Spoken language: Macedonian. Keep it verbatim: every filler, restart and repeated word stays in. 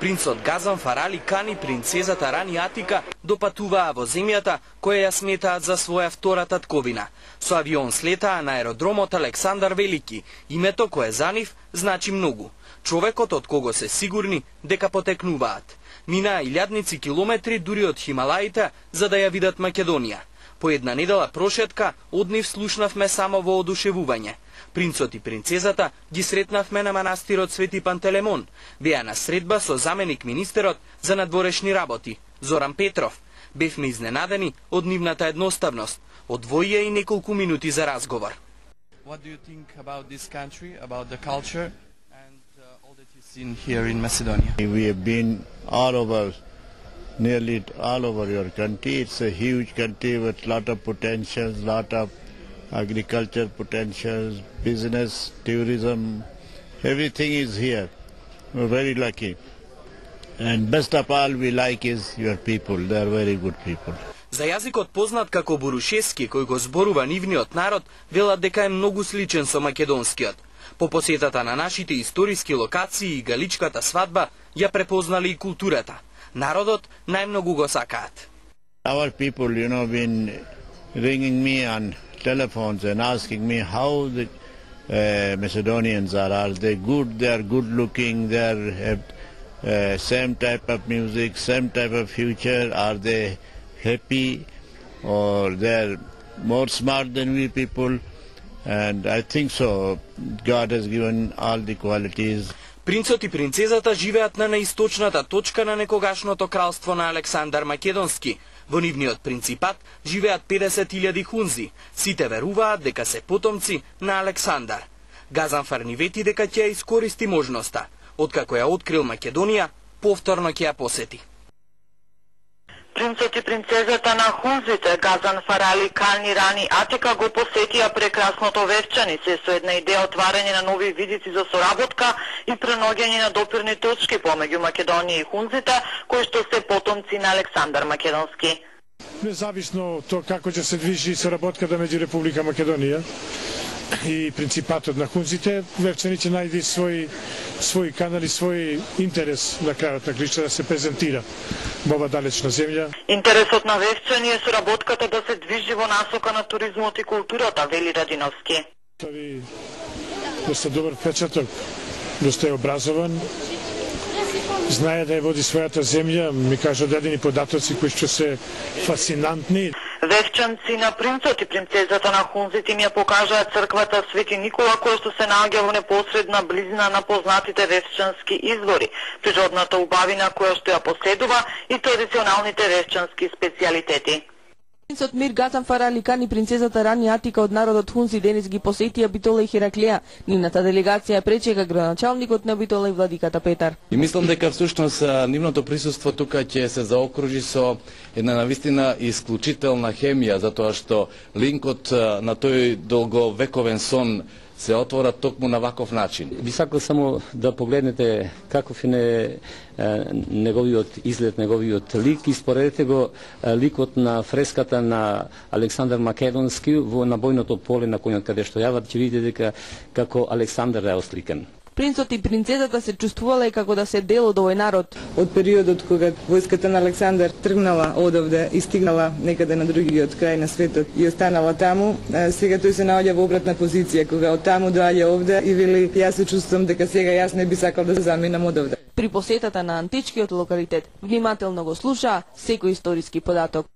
Принцот Газан Фарали кани принцезата Рани Атика допатуваа во земјата која ја сметаат за своја втора татковина. Со авион слетаа на аеродромот Александар Велики, името кое за нив значи многу. Човекот од кого се сигурни дека потекнуваат. Минаа илјадници километри дури од Хималаите за да ја видат Македонија. По една недела прошетка од нив слушнавме само во одушевување. Принцот и принцезата ги сретнавме на манастирот Свети Пантелемон. Беа на средба со заменик министерот за надворешни работи, Зоран Петров. Бевме изненадени од нивната едноставност. Одвоија и неколку минути за разговор. What do you think about this country, about the culture and uh, all that you've seen here in Macedonia? We have been all over, nearly all over your country. It's a huge country with lot of potentials, lot of agriculture potentials, business, tourism, everything is here. We're very lucky. And best of all we like is your people. They are very good people. За јазикот познат како бурушески, кој го зборува нивниот народ, велат дека е многу сличен со македонскиот. По посетата на нашите историски локации и галичката свадба ја препознали и културата. Народот најмногу го сакаат. Our people, you know, been ringing me on telephones and asking me how the uh, Macedonians are. Are they good? They are good looking. They are have uh, same type of music, same type of future. Are they happy, or they are more smart than we people? And I think so. God has given all the qualities. Принцот и принцезата живеат на наисточната точка на некогашното кралство на Александар Македонски. Во нивниот принципат живеат педесет илјади хунзи. Сите веруваат дека се потомци на Александар. Газан Фарни вети дека ќе ја искористи можноста. Откако ја открил Македонија, повторно ќе ја посети. Принцот и принцезата на хунзите Газан Фарали кани Рани Атика го посетија прекрасното Вевчанице со една идеја отварање на нови видици за соработка и преноѓање на допирни точки помеѓу Македонија и хунзите, кои што се потомци на Александар Македонски. Независно од тоа како ќе се движи соработката меѓу Република Македонија и принципатот на хунзите, Вевчани ќе најде свој свој канали, свој интерес на крајот на кришта да се презентира во ова далечна земја. Интересот на Вевчани е соработката да се движи во насока на туризмот и културата, вели Радиновски. Тој доста добар впечаток, доста е образован, знае да ја води својата земја, ми кажа дадени податоци кои што се фасцинантни. Вевчанци на принцот и принцезата на хунзите им ја покажаа црквата Свети Никола, која што се наоѓа во непосредна близина на познатите вевчански извори, природната убавина која што ја поседува и традиционалните вевчански специјалитети. Принцот Мир Газан Фарали кани принцезата Рани Атика од народот хунзи денес ги посетија Битола и Хераклија. Нивната делегација пречека градоначалникот на Битола и владиката Петар. И мислам дека всушност нивното присуство тука ќе се заокружи со една навистина исклучителна хемија, затоа што линкот на тој долговековен сон се отвора токму на ваков начин. Би сакал само да погледнете каков е неговиот изглед, неговиот лик и споредете го ликот на фреската на Александар Македонски во на бојното поле на коњот каде што јават, ќе видите дека како Александар е осликан. Принцот и принцезата се чувствувале како да се дел од овој народ. Од периодот кога војската на Александар тргнала одовде и стигнала некаде на другиот крај на светот и останала таму, сега тој се наоѓа во обратна позиција, кога од таму доаѓа овде и вели јас се чувствувам дека сега јас не би сакал да се заминам одовде. При посетата на античкиот локалитет внимателно го слуша секој историски податок.